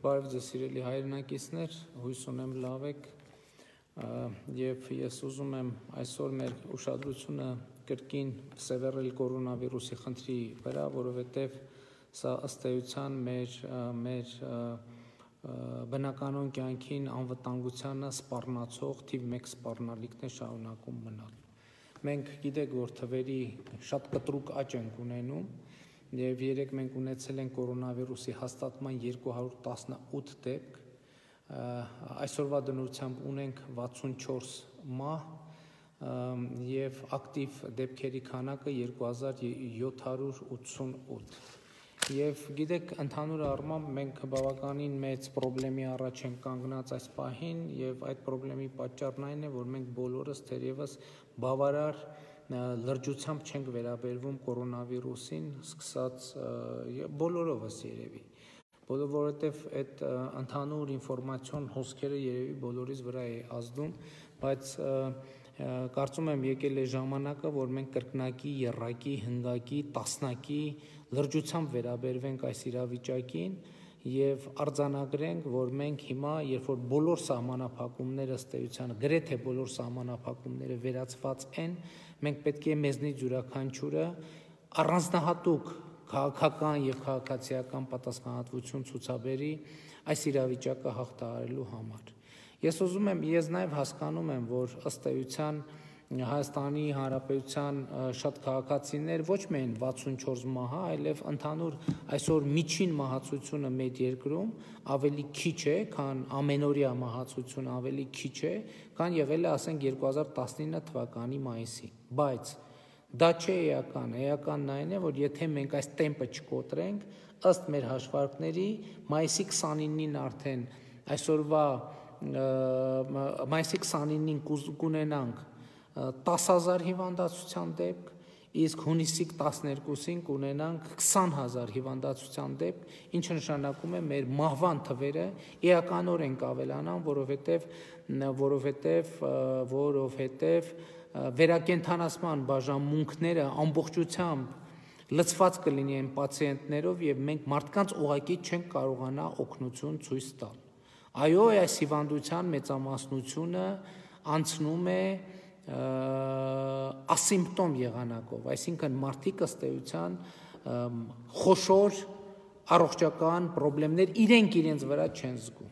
Բարև ձեզ սիրելի հայրենակիցներ, հույս ունեմ լավ եք եւ ես ուզում եմ այսօր մեր ուշադրությունը կրկին սևեռել կորոնավիրուսի խնդրի վրա, որովհետեւ սա ըստ էության մեր բնականon կյանքին անվտանգությանը սպառնացող թիվ 1 սպառնալիքն է շարունակում մնալ։ Մենք գիտեք, որ թվերի շատ կտրուկ աճ ենք ունենում եւ երեք մենք ունեցել ենք կորոնավիրուսի հաստատման 218 դեպք, այսօրվա դնությամբ ունենք 64 մահ եւ ակտիվ դեպքերի քանակը 2788 եւ գիտեք, ընդհանուր առմամբ մենք բավականին մեծ խնդրի առաջ ենք կանգնած այս պահին եւ այդ խնդրի պատճառն այն է, որ մենք բոլորս թերևս բավարար լրջությամբ չենք վերաբերվում կորոնավիրուսին, սկսած բոլորովս երևի, որովհետև այդ ընդհանուր ինֆորմացիոն հոսքերը երևի բոլորիս վրա է ազդում, բայց կարծում եմ եկել է ժամանակը, որ մենք կրկնակի, եռակի, հնգակի, տասնակի լրջությամբ վերաբերվենք այս իրավիճակին եւ արձանագրենք, որ մենք հիմա, երբ որ բոլոր սահմանափակումները ըստ էության, գրեթե բոլոր սահմանափակումները վերացված են, մենք պետք է մեզնից յուրաքանչյուրը առանձնահատուկ քաղաքական եւ քաղաքացիական պատասխանատվություն ցուցաբերի այս իրավիճակը հաղթահարելու համար։ Ես նաեւ հասկանում եմ, որ ըստ էության Հայաստանի Հանրապետության շատ քաղաքացիներ ոչ միայն 64 մահ, այլև ընդհանուր այսօր միջին մահացությունը մեր երկրում ավելի քիչ է, քան ամենօրյա մահացությունը ավելի քիչ է, քան եղել է, ասենք 2019 թվականի մայիսին, բայց դա չէ էական, էականն այն է, որ եթե մենք այս տեմպը չկոտրենք, ըստ մեր հաշվարկների, մայիսի 29-ին արդեն այսօրվա մայիսի 29-ին կունենանք 10,000 հիվանդացության դեպք, իսկ հունիսի 12-ին կունենանք 20,000 հիվանդացության դեպք, ինչը նշանակում է մեր մահվան թվերը էականորեն կավելանան, որովհետև վերակենդանացման բաժանմունքները ամբողջությամբ լցված կլինեն պացիենտներով եւ մենք մարդկանց ուղղակի չենք կարողանա օգնություն ցույց տալ։ Այո, այս հիվանդության մեծամասնությունը անցնում է ասիմպտոմ եղանակով, այսինքն մարդիկ ըստ էության խոշոր առողջական խնդիրներ իրենց վրա չեն զգում,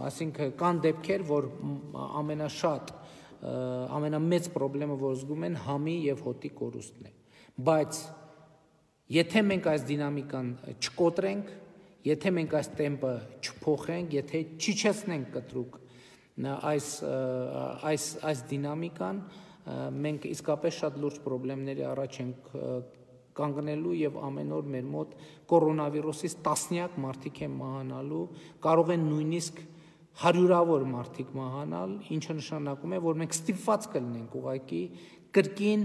այսինքն կան դեպքեր, որ ամենամեծ խնդիրը, որ զգում են համի եւ հոտի կորուստն է, բայց եթե մենք այս դինամիկան չկոտրենք, եթե մենք այս տեմպը չփոխենք, եթե չիջեցնենք կտրուկ այս դինամիկան, մենք իսկապես շատ լուրջ խնդիրների առաջ ենք կանգնելու եւ ամեն օր մեր մոտ կորոնավիրուսից տասնյակ մարդիկ են մահանալու, կարող են նույնիսկ հարյուրավոր մարդիկ մահանալ, ինչը նշանակում է, որ մենք ստիպված կլինենք ուղղակի կրկին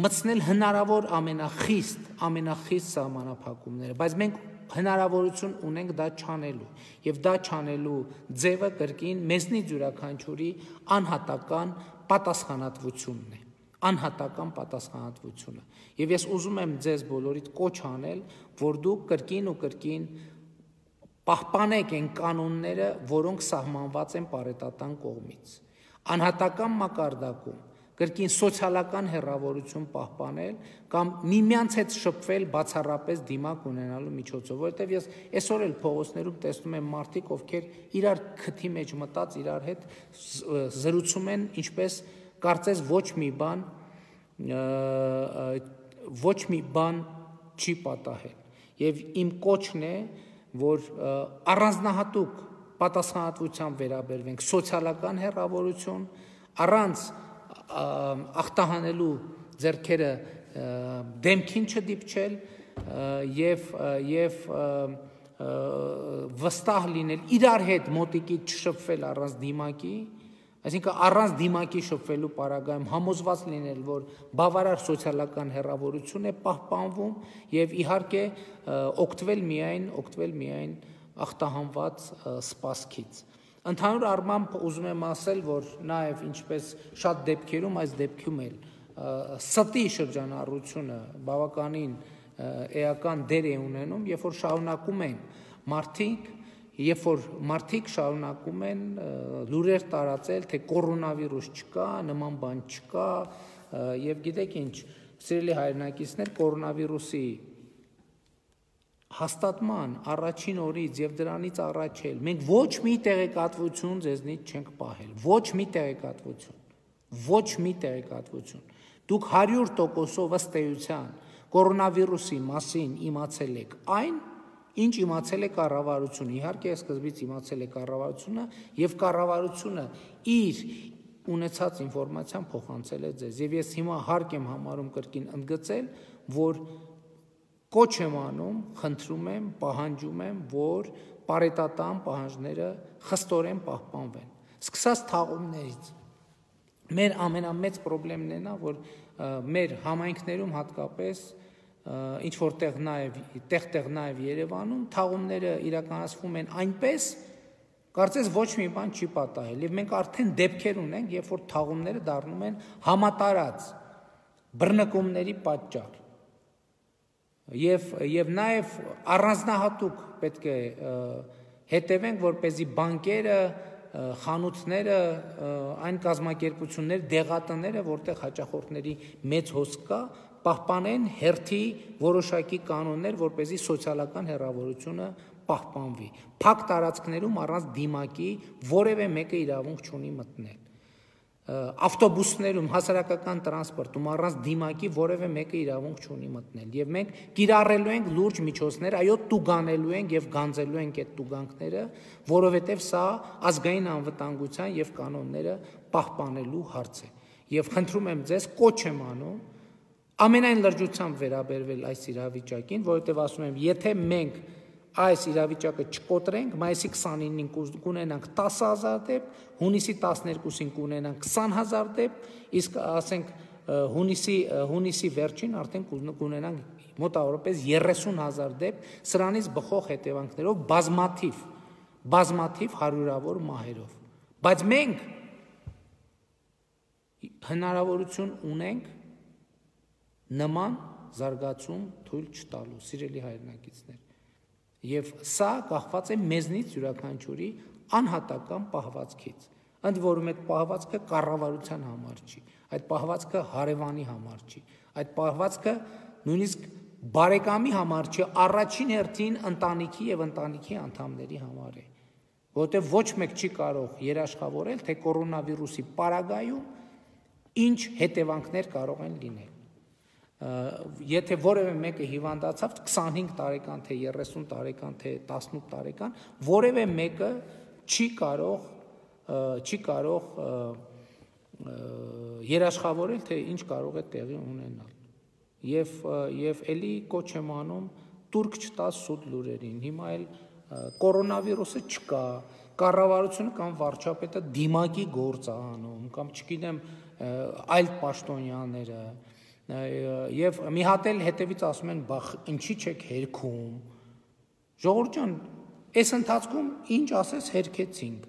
մտցնել հնարավոր ամենախիստ սահմանափակումները, բայց մենք հնարավորություն ունենք դա չանելու եւ դա չանելու ձևը կրկին մեզնից յուրաքանչյուրի անհատական պատասխանատվությունը եւ ես ուզում եմ ձեզ բոլորիդ կոչ անել, որ դուք կրկին ու կրկին պահպանեք այն կանոնները, որոնք սահմանված են պարետատան կողմից, անհատական մակարդակում կրկին սոցիալական հեռավորություն պահպանել կամ միմյանց հետ շփվել բացառապես դիմակ ունենալու միջոցով, որովհետև ես այսօր էլ փողոցներում տեսնում եմ մարդիկ, ովքեր իրար քթի մեջ մտած իրար հետ զրուցում են, ինչպես կարծես ոչ մի բան չի պատահել։ Եվ իմ կոչն է, որ առանձնահատուկ պատասխանատվությամբ վերաբերվենք, սոցիալական հեռավորություն, առանց ախտահանելու ձեռքերը դեմքին չդիպչել եւ վստահ լինել, իրար հետ մոտիկից չշփվել առանց դիմակի, այսինքն առանց դիմակի շփվելու պարագայում համոզված լինել, որ բավարար սոցիալական հեռավորություն է պահպանվում եւ իհարկե օգտվել միայն ախտահանված սպասքից։ Ընդհանուր առմամբ ուզում եմ ասել, որ նաև ինչպես շատ դեպքերում, այս դեպքում էլ ստի շրջանառությունը բավականին էական դեր է ունենում, երբ որ շարունակում են մարդիկ երբ որ մարդիկ շարունակում են լուրեր տարածել, թե կորոնավիրուս չկա, նման բան չկա, եւ գիտեք ինչ, սիրելի հայրենակիցներ, կորոնավիրուսի հաստատման առաջին օրից եւ դրանից առաջ էլ մենք ոչ մի տեղեկատվություն ձեզնից չենք պահել, ոչ մի տեղեկատվություն։ Դուք 100%-ով ըստ էության կորոնավիրուսի մասին իմացել եք այն, ինչ իմացել է կառավարությունը, իհարկե սկզբից իմացել է կառավարությունը եւ կառավարությունը իր ունեցած ինֆորմացիան փոխանցել է ձեզ եւ ես հիմա հարկ եմ համարում կրկին ընդգծել, որ կոչ եմ անում, խնդրում եմ, պահանջում եմ, որ պարետատան պահանջները խստորեն պահպանվեն։ Սկսած թաղումներից մեր ամենամեծ խնդիրն է նա, որ մեր համայնքներում հատկապես ինչ որտեղ նաև Երևանում թաղումները իրականացվում են այնպես, կարծես ոչ մի բան չի պատահել, եւ մենք արդեն դեպքեր ունենք, երբ որ թաղումները դառնում են համատարած բռնկումների պատճառ։ Եվ նաև առանձնահատուկ պետք է հետևենք, որպեսզի բանկերը, խանութները, այն կազմակերպությունները, դեղատները, որտեղ հաճախորդների մեծ հոսք կա, պահպանեն հերթի որոշակի կանոններ, որպեսզի սոցիալական հեռավորությունը պահպանվի։ Փակ տարածքներում առանց դիմակի որևէ մեկը իրավունք չունի մտնել։ Ավտոբուսներում, հասարակական տրանսպորտում առանց դիմակի որևէ մեկը իրավունք չունի մտնել եւ մենք կիրառելու ենք լուրջ միջոցներ, այո, տուգանելու ենք եւ գանձելու ենք այդ տուգանքները, որովհետեւ սա ազգային անվտանգության եւ կանոնները պահպանելու հարց է։ Եվ խնդրում եմ ձեզ, կոչ եմ անում ամենայն լրջությամբ վերաբերվել այս իրավիճակին, որովհետեւ ասում եմ, եթե մենք այս իրավիճակը չկոտրենք, մայիսի 29-ին կունենանք 10,000 դեպք, հունիսի 12-ին կունենանք 20,000 դեպք, իսկ ասենք հունիսի վերջին արդեն կունենանք մոտավորապես 30,000 դեպք, սրանից բխող հետևանքներով բազմաթիվ հարյուրավոր մահերով։ Բայց մենք հնարավորություն ունենք նման զարգացում թույլ չտալու, սիրելի հայրենակիցներ։ Եվ սա կախված է մեզնից յուրաքանչյուրի անհատական պահվածքից։ Ընդ որում այդ պահվածքը կառավարության համար չի, այդ պահվածքը հարևանի համար չի, այդ պահվածքը նույնիսկ բարեկամի համար չի, առաջին հերթին ընտանիքի եւ ընտանիքի անդամների համար է, որովհետեւ ոչ մեկ չի կարող երաշխավորել, թե կորոնավիրուսի պարագայում ինչ հետևանքներ կարող են լինել։ Եթե որևէ մեկը հիվանդացավ 25 տարեկան, թե 30 տարեկան, թե 18 տարեկան, որևէ մեկը չի կարող երաշխավորել, թե ինչ կարող է տեղի ունենալ։ Եվ էլի կոչ եմ անում տուրք չտաս սուտ լուրերին։ Հիմա էլ կորոնավիրուսը չկա, կառավարությունը կամ վարչապետը դիմակի գործ է անում, կամ չգիտեմ այլ պաշտոնյաները Եվ մի հատ էլ հետևից ասում են, բախ ինչի չեք հերքում, ժողովուրդ ջան, այս ընթացքում ինչ ասես հերքեցինք,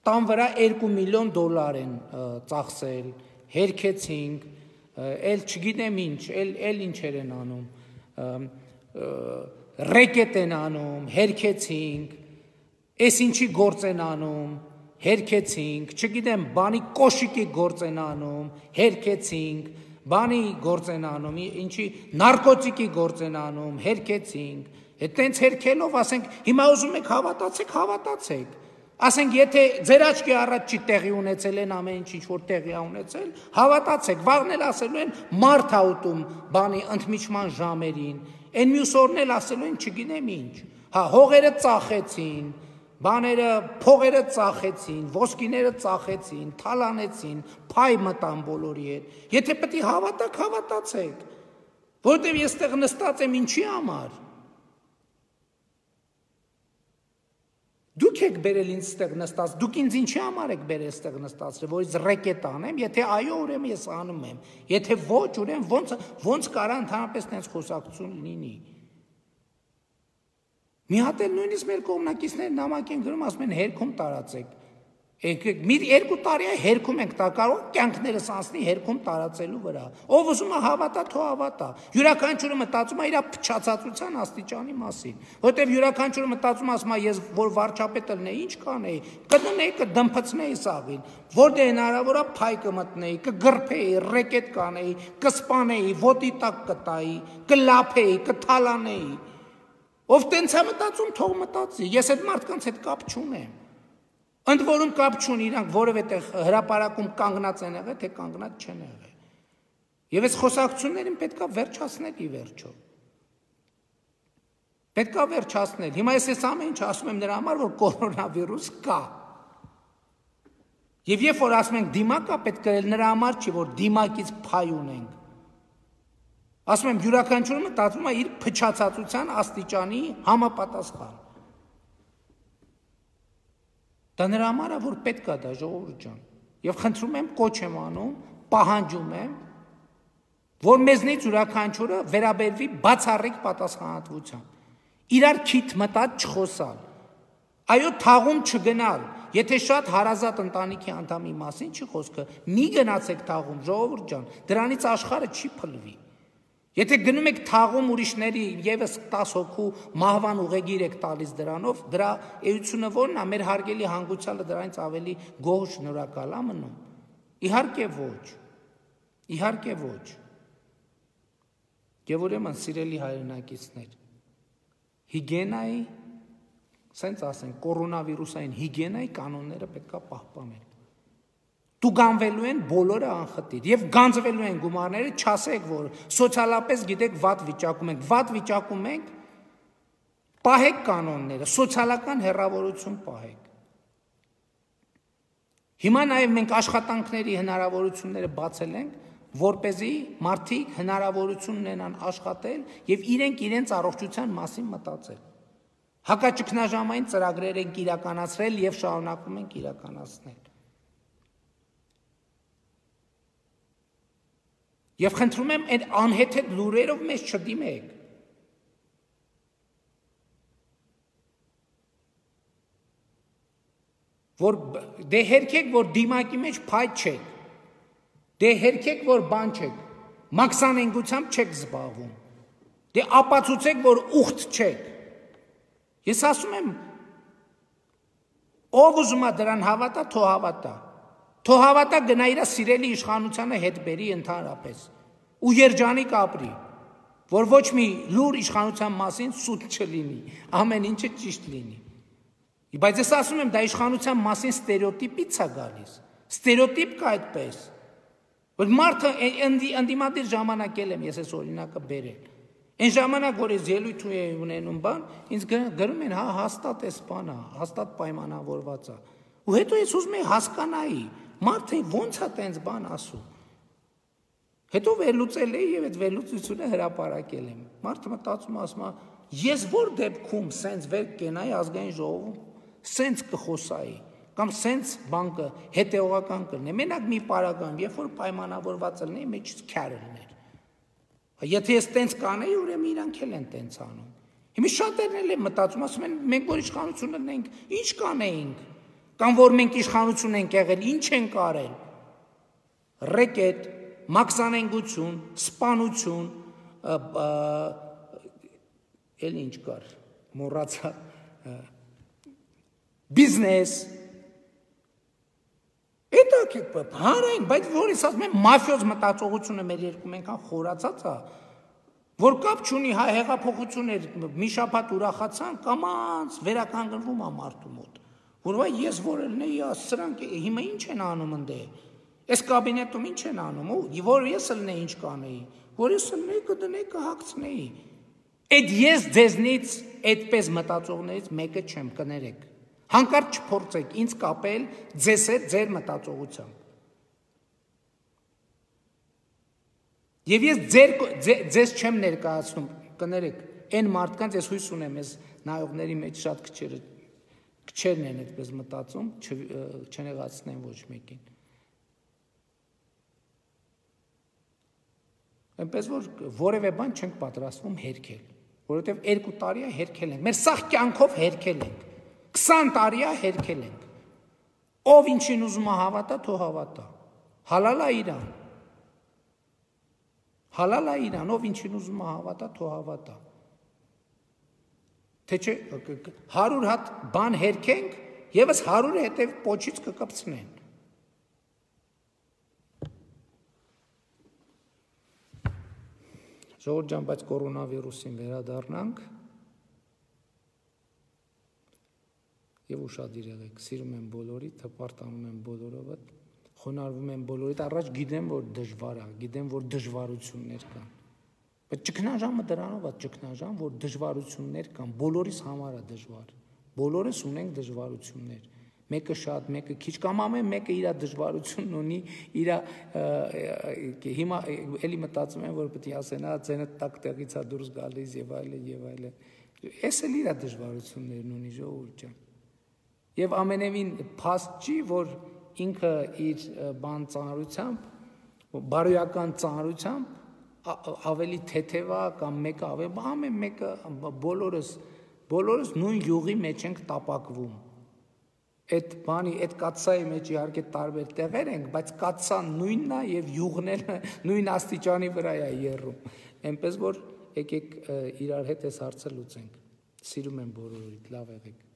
տան վրա $2 միլիոն են ծախսել, հերքեցինք, էլ չգիտեմ ինչ, էլ ինչեր են անում, ռեկետ են անում, հերքեցինք, այս ինչի գործ են անում, հերքեցինք, չգիտեմ, բանի կոշիկի գործ են անում, հերքեցինք, բանի գործ են անում, ինչի նարկոտիկի գործ են անում, հերքեցինք, այտենց հերքելով, ասենք, հիմա ուզում եք հավատացեք, ասենք, եթե ձեր աչքի առաջ չի տեղի ունեցել են ամեն ինչ որ տեղի է ունեցել, հավատացեք, վաղն էլ ասելու են մարդ ա ուտում բանի ընդմիջման ժամերին, այն մյուս օրն էլ ասելու են չգիտեմ ինչ, հողերը ծախեցին, բաները, փողերը ծախեցին, ոսկիները ծախեցին, թալանեցին, փայ մտան բոլորի հետ, եթե պետք է հավատաք, հավատացեք, որովհետև ես տեղ նստած եմ ինչի համար, դուք եք բերել ինձ ստեղ նստած, դուք ինձ ինչի համար եք բերել ստեղ նստած, որ ես ռեկետ անեմ, եթե այո, ուրեմն ես անում եմ, եթե ոչ, ուրեմն ոնց կարա ընդհանրապես տենց խոսակցություն լինի։ Մի հատ էլ նույնիսկ մեր կողմնակիցները նամակ են գրում, ասում են հերքում տարածեք, Մի 2 տարի է հերքում ենք տա կարող կյանքներս անցնի հերքում տարածելու վրա։ Ով ուզում է հավատա, թող հավատա։ Յուրաքանչյուրը մտածում է իր փչացածության աստիճանի մասին, որտեղ յուրաքանչյուրը մտածում ասում է ես որ վարչապետը լինեի, ինչ կանեի, կդնեի, կդմփցնեի սաղին, որտեղ հնարավոր է փայ կմտնեի, կգրփեի, ռեկետ կանեի, կսպանեի, ոտի տակ կտայի, կլափեի, կթալանեի։ Ով տենց է մտածում, թող մտածի։ Ես այդ մարդկանց հետ կապ չունեմ։ Ընդ որում կապ չունի իրանք որևէ տեղ հրապարակում կանգնած են եղել, թե կանգնած չեն եղել։ Եվ այս խոսակցություններին պետք է վերջացնել ի վերջո։ Պետք է վերջացնել։ Հիմա ես այս ամեն ինչ ասում եմ նրա համար, որ կորոնավիրուս կա։ Եվ երբ որ ասում ենք դիմակ կա, պետք է նրա համար չի, որ դիմակից փայ ունենք։ Ասում եմ յուրաքանչյուրը մտածում է իր փչացածության աստիճանի համապատասխան։ Դա նրա համար է, որ պետք է դա ժողովուրդ ջան։ Եվ խնդրում եմ, կոչ եմ անում, պահանջում եմ, որ մեզնից յուրաքանչյուրը վերաբերվի բացառիկ պատասխանատվությամբ։ Իրար քիթ մտած չխոսալ։ Այո, թաղում չգնալ։ Եթե շատ հարազատ ընտանիքի անդամի մասին չի խոսքը, մի գնացեք թաղում, ժողովուրդ ջան, դրանից աշխարհը չի փլվի։ Եթե գնում եք թաղում ուրիշների եւս 10 հոգու մահվան ուղեգիր եք տալիս դրանով, դրա էությունը ո՞րն է, մեր հարգելի հանգուցալը դրանից ավելի գոհ շնորհակալ է մնում։ Իհարկե ոչ։ Իհարկե ոչ։ Եվ ուրեմն սիրելի հայրենակիցներ, հիգիենայի, սենց ասենք, կորոնավիրուսային հիգիենայի կանոնները պետք է պահպանել։ Տուգանվելու են բոլորը անխտիր եւ գանձվելու են գումարները, չասեք, որ սոցիալապես գիտեք վատ վիճակում ենք, վատ վիճակում ենք, պահեք կանոնները, սոցիալական հեռավորություն պահեք։ Հիմա նաեւ մենք աշխատանքների հնարավորությունները բացել ենք, որպեսզի մարդիկ հնարավորություն ունենան աշխատել եւ իրենց առողջության մասին մտածել։ Հակաճգնաժամային ծրագրեր ենք իրականացրել եւ շարունակում ենք իրականացնել։ Եվ խնդրում եմ այդ անհեթեթ լուրերով մեզ չդիմեք։ Որ դե հերքեք, որ դիմակի մեջ փայտ չեք։ Դե հերքեք, որ բան չեք։ Մաքսանենգությամբ չեք զբաղվում։ Դե ապացուցեք, որ ուխտ չեք։ Ես ասում եմ, ով ուզում է դրան հավատա, թող հավատա։ Թող հավատա գնա իր սիրելի իշխանությանը հետ բերի ընդհանրապես ու երջանիկ ապրի, որ ոչ մի լուր իշխանության մասին սուտ չլինի, ամեն ինչը ճիշտ լինի։ Բայց ես ասում եմ, դա իշխանության մասին ստերեոտիպից է գալիս։ Ստերեոտիպ կա այդպես։ Որ մարդը ընդդիմադիր ժամանակ եմ ես այս օրինակը բերել։ Այն ժամանակ, որ ես ելույթ ունենում բան, ինձ գրում են, հա, հաստատ էս բանը, հաստատ պայմանավորված է։ Ու հետո ես ուզում եմ հասկանայի, մարդը ո՞նց է տենց բան ասում։ Հետո վերլուծել եմ եւ այդ վերլուծությունը հրապարակել եմ։ Մարդը մտածում ասում է, ես որ դեպքում սենց վեր կենայի ազգային ժողովում, սենց կխոսայի, կամ սենց բանկը հետեւողական կլինի։ Մենակ մի պարագայում, երբ որ պայմանավորված լինի, մեջից քյարը լիներ։ Եթե ես տենց կանեի, ուրեմն իրանք էլ են տենց անում։ Հիմա շատերն էլ են մտածում, ասում են, մենք որ իշխանություն ունենք, ինչ կանեինք։ Կամ որ մենք իշխանություն ենք եղել, ինչ ենք արել։ Ռեկետ, մաքսանենգություն, սպանություն, էլ ինչ կար, մոռացա, բիզնես։ Դա հանրային, բայց որ ես ասում եմ, մաֆիոզ մտածողությունը մեր երկում այնքան խորացած է, որ կապ չունի, հա, հեղափոխություններ մի շաբաթ ուրախացան, կամաց վերականգնվում է մարդու մոտ։ Որ վայ ես որ ելնեի, սրանք հիմա ինչ են անում ընդե։ Այս կաբինետում ինչ են անում, ու որ ես ելնեի ինչ կանեի, որ ես ելնեի կդնեի կհագցնեի։ Այդ ես ձեզնից այդպես մտածողներից մեկը չեմ, կներեք։ Հանկարծ չփորձեք ինձ կապել ձեզ հետ ձեր մտածողությամբ։ Եվ ես ձեզ չեմ ներկայացնում, կներեք, այն մարդկանց ես հույս ունեմ, ես նայողների մեջ շատ քչերն են այդպես մտածում, չնեղացնեն ոչ մեկին։ Այնպես որ որևէ բան չենք պատրաստվում հերքել, որովհետև 2 տարի է հերքել ենք, մեր սաղ կյանքով հերքել ենք, 20 տարի է հերքել ենք։ Ով ինչին ուզում է հավատա, թող հավատա։ Հալալ է իրան։ Հալալ է իրան, ով ինչին ուզում է հավատա, թող հավատա։ Թե չէ 100 հատ բան հերքենք, եւս 100-ը հետեւ պոչից կկպցնեն։ Ժողովուրդ ջան, բայց կորոնավիրուսին վերադառնանք եւ ուշադիր եղեք, սիրում եմ բոլորիդ, հպարտանում եմ բոլորովդ, խոնարհվում եմ բոլորիդ, առաջ գիտեմ, որ դժվար է, գիտեմ, որ դժվարություններ կան։ Բայց ճգնաժամը դրանով է ճգնաժամ, որ դժվարություններ կան, բոլորիս համար է դժվար։ Բոլորս ունենք դժվարություններ։ Մեկը շատ, մեկը քիչ կամ ամեն մեկը իր դժվարությունն ունի, իր հիմա էլի մտածում եմ, որ պետք է ասեն, ձենը տակ տեղից է դուրս գալիս եւ այլն եւ այլն։ Էս էլ իր դժվարություններն ունի, ժողովուրդ ջան։ Եվ ամենևին փաստ չի, որ ինքը իր բան ծանրությամբ, բարոյական ծանրությամբ ավելի թեթևա կամ մեկը ավելի, ամեն մեկը բոլորս նույն յուղի մեջ ենք տապակվում։ Այդ բանի, այդ կաթսայի մեջ իհարկե տարբեր տեղեր ենք, բայց կաթսան նույնն է եւ յուղն էլ նույն աստիճանի վրա է եռում։ Էնպես որ եկեք իրար հետ այս հարցը լուծենք։ Սիրում եմ բոլորիդ, լավ եղեք։